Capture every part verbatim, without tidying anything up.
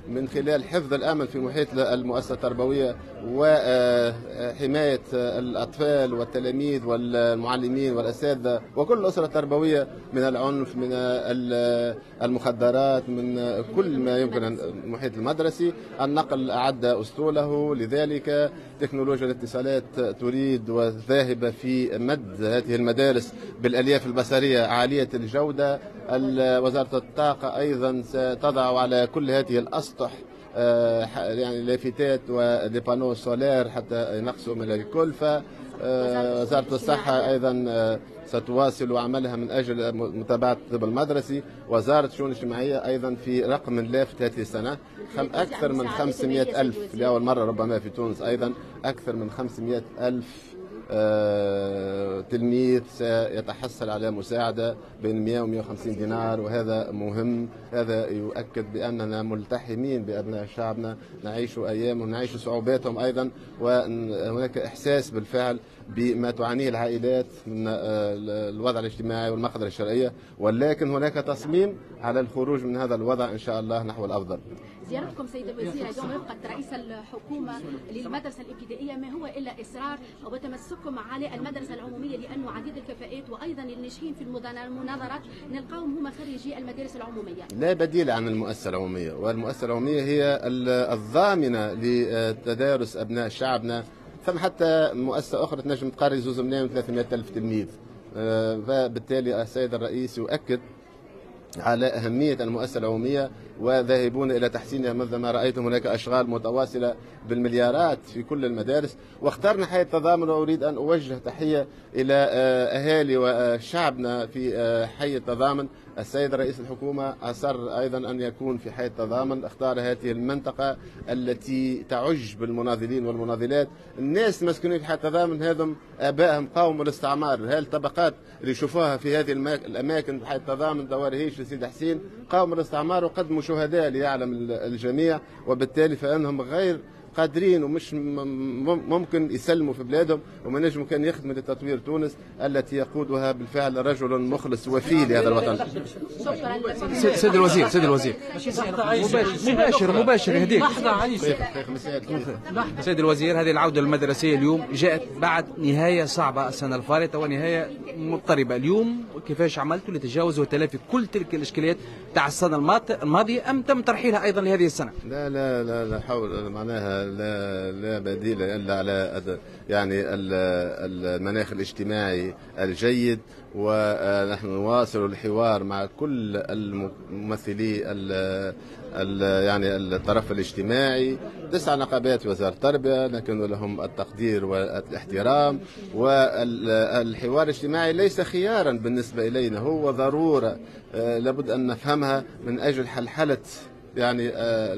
من خلال حفظ الأمن في محيط المؤسسة التربوية وحماية الأطفال والتلاميذ والمعلمين والأساتذة وكل الأسرة التربوية من العنف، من المخدرات، من كل ما يمكن المحيط المدرسي. النقل أعد أسطوله، لذلك تكنولوجيا الاتصالات تريد وذاهبة في مد هذه المدارس بالألياف البصرية عالية الجودة. وزارة الطاقة أيضا ستضع على كل هذه الأسطح يعني لافتات و des panneaux solaires حتى ينقصوا من الكلفة. وزارة الصحة أيضا ستواصل عملها من أجل متابعة الطب المدرسي. وزارة الشؤون الاجتماعية أيضا في رقم لافت هذه السنة، أكثر من خمسمائة ألف لأول مرة ربما في تونس، أيضا أكثر من خمسمائة ألف تلميذ سيتحصل على مساعدة بين مئة و مئة وخمسين دينار، وهذا مهم. هذا يؤكد بأننا ملتحمين بأبناء شعبنا، نعيش أيامهم، نعيش صعوباتهم أيضا، وهناك إحساس بالفعل بما تعانيه العائلات من الوضع الاجتماعي والمقدرة الشرعية، ولكن هناك تصميم على الخروج من هذا الوضع إن شاء الله نحو الأفضل. زيارتكم سيد الوزير اليوم رفقة رئيس الحكومة للمدرسة الابتدائية ما هو إلا إصرار وتمسككم على المدرسة العمومية، لأنه عديد الكفاءات وأيضا الناجحين في المناظرات نلقاهم هما خريجي المدارس العمومية. لا بديل عن المؤسسة العمومية، والمؤسسة العمومية هي الضامنة لتدارس أبناء شعبنا. ثم حتى مؤسسة أخرى تنجم تقري زوز ملايين وثلاثمائة ألف تلميذ، فبالتالي السيد الرئيس يؤكد على أهمية المؤسسة العمومية وذاهبون إلى تحسينها مثل ما رأيتم. هناك أشغال متواصلة بالمليارات في كل المدارس، واخترنا حي التضامن. وأريد أن أوجه تحية إلى أهالي وشعبنا في حي التضامن. السيد رئيس الحكومة أصر أيضا أن يكون في حي التضامن، اختار هذه المنطقة التي تعج بالمناضلين والمناضلات. الناس المسكونين في حي التضامن هذم آبائهم قاوموا الاستعمار، هذه الطبقات اللي يشوفوها في هذه الأماكن في حي التضامن، دوار هيش لسيد حسين، قاوموا الاستعمار وقدموا شهداء ليعلم الجميع، وبالتالي فإنهم غير قادرين ومش ممكن يسلموا في بلادهم، وما نجموا كان يخدموا لتطوير تونس التي يقودها بالفعل رجل مخلص وفي لهذا الوطن. سيد الوزير، سيد الوزير مباشر مباشر يهديك. سيد الوزير، هذه العودة المدرسية اليوم جاءت بعد نهاية صعبة السنة الفارطة ونهاية مضطربة. اليوم كيفاش عملتوا لتجاوز وتلافي كل تلك الإشكاليات تاع السنة الماضية أم تم ترحيلها أيضا لهذه السنة؟ لا لا لا لا حول معناها لا لا بديل الا على يعني المناخ الاجتماعي الجيد، ونحن نواصل الحوار مع كل الممثلي يعني الطرف الاجتماعي. تسع نقابات وزارة التربية لكن لهم التقدير والاحترام، والحوار الاجتماعي ليس خيارا بالنسبة إلينا، هو ضرورة لابد أن نفهمها من أجل حلحلة يعني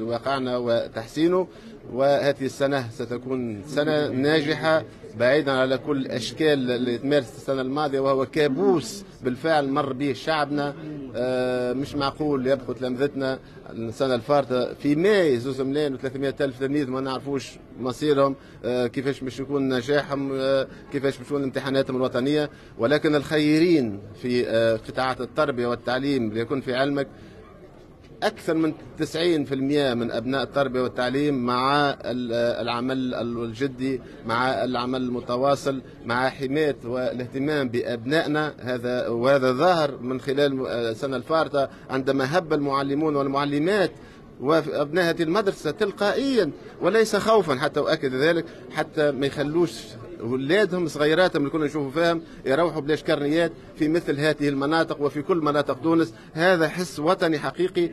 واقعنا وتحسينه. وهذه السنة ستكون سنة ناجحة بعيدا على كل الأشكال اللي تمارست السنة الماضية، وهو كابوس بالفعل مر به شعبنا. مش معقول يبقوا تلامذتنا السنة الفارطة في ماي زوز ملايين وثلاثمائة ألف تلميذ ما نعرفوش مصيرهم، كيفاش باش يكون نجاحهم، كيفاش باش تكون امتحاناتهم الوطنية. ولكن الخيرين في قطاعات التربية والتعليم ليكون في علمك أكثر من تسعين بالمئة من أبناء التربية والتعليم مع العمل الجدي، مع العمل المتواصل، مع حماية والاهتمام بأبنائنا. هذا وهذا ظاهر من خلال السنة الفارطة عندما هب المعلمون والمعلمات وأبناء هذه المدرسة تلقائيا وليس خوفا، حتى أؤكد ذلك، حتى ما يخلوش ولادهم صغيراتهم اللي كنا نشوفوا فيهم يروحوا بلاش كرنيات في مثل هذه المناطق وفي كل مناطق تونس. هذا حس وطني حقيقي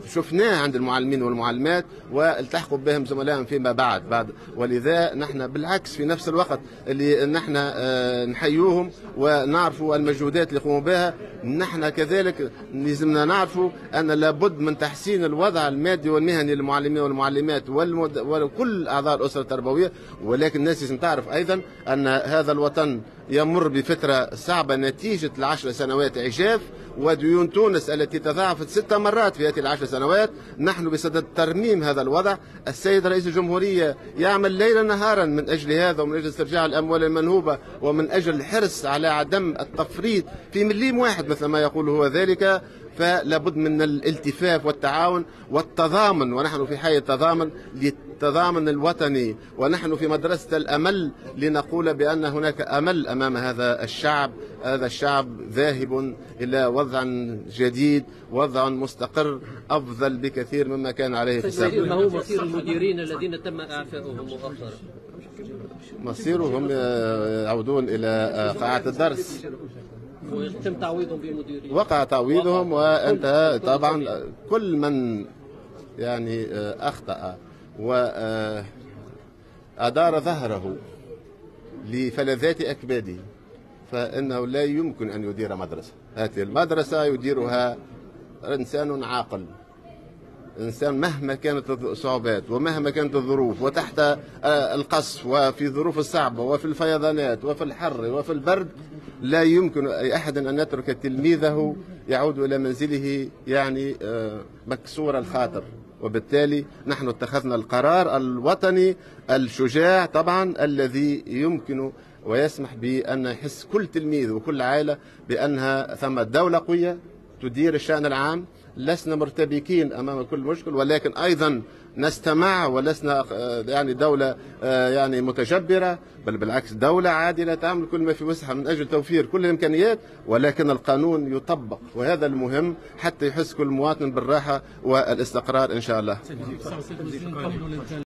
شفناه عند المعلمين والمعلمات والتحقوا بهم زملائهم فيما بعد بعد. ولذا نحن بالعكس في نفس الوقت اللي نحن نحيوهم ونعرفوا المجهودات اللي يقوموا بها، نحن كذلك لازمنا نعرفوا أن لابد من تحسين الوضع المادي والمهني للمعلمين والمعلمات والمد... وكل أعضاء الأسرة التربوية. ولكن الناس لازم تعرف أيضا أن هذا الوطن يمر بفترة صعبة نتيجة العشر سنوات عجاف وديون تونس التي تضاعفت ست مرات في هذه العشر سنوات. نحن بصدد ترميم هذا الوضع. السيد رئيس الجمهورية يعمل ليلا نهارا من أجل هذا ومن أجل استرجاع الأموال المنهوبة ومن أجل الحرص على عدم التفريط في مليم واحد مثل ما يقول هو ذلك. فلا بد من الالتفاف والتعاون والتضامن، ونحن في حي التضامن للتضامن الوطني، ونحن في مدرسة الأمل لنقول بأن هناك أمل أمام هذا الشعب. هذا الشعب ذاهب إلى وضع جديد، وضع مستقر أفضل بكثير مما كان عليه في السابق. ما هو مصير المديرين الذين تم إعفائهم مؤخرا؟ مصيرهم يعودون إلى قاعة الدرس ويتم تعويضهم بمديرين. وقع تعويضهم وانتهى. طبعا كل من يعني أخطأ وأدار ظهره لفلذات أكباده فإنه لا يمكن أن يدير مدرسة. هذه المدرسة يديرها إنسان عاقل، إنسان مهما كانت الصعوبات ومهما كانت الظروف وتحت القصف وفي الظروف الصعبة وفي الفيضانات وفي الحر وفي البرد، لا يمكن أي أحد أن يترك تلميذه يعود إلى منزله يعني مكسور الخاطر. وبالتالي نحن اتخذنا القرار الوطني الشجاع طبعا الذي يمكن ويسمح بأن يحس كل تلميذ وكل عائلة بأنها ثم دولة قوية تدير الشأن العام. لسنا مرتبكين أمام كل مشكل، ولكن أيضا نستمع، ولسنا يعني دولة يعني متجبرة، بل بالعكس دولة عادلة تعمل كل ما في وسعها من أجل توفير كل الإمكانيات، ولكن القانون يطبق، وهذا المهم حتى يحس كل مواطن بالراحة والاستقرار إن شاء الله.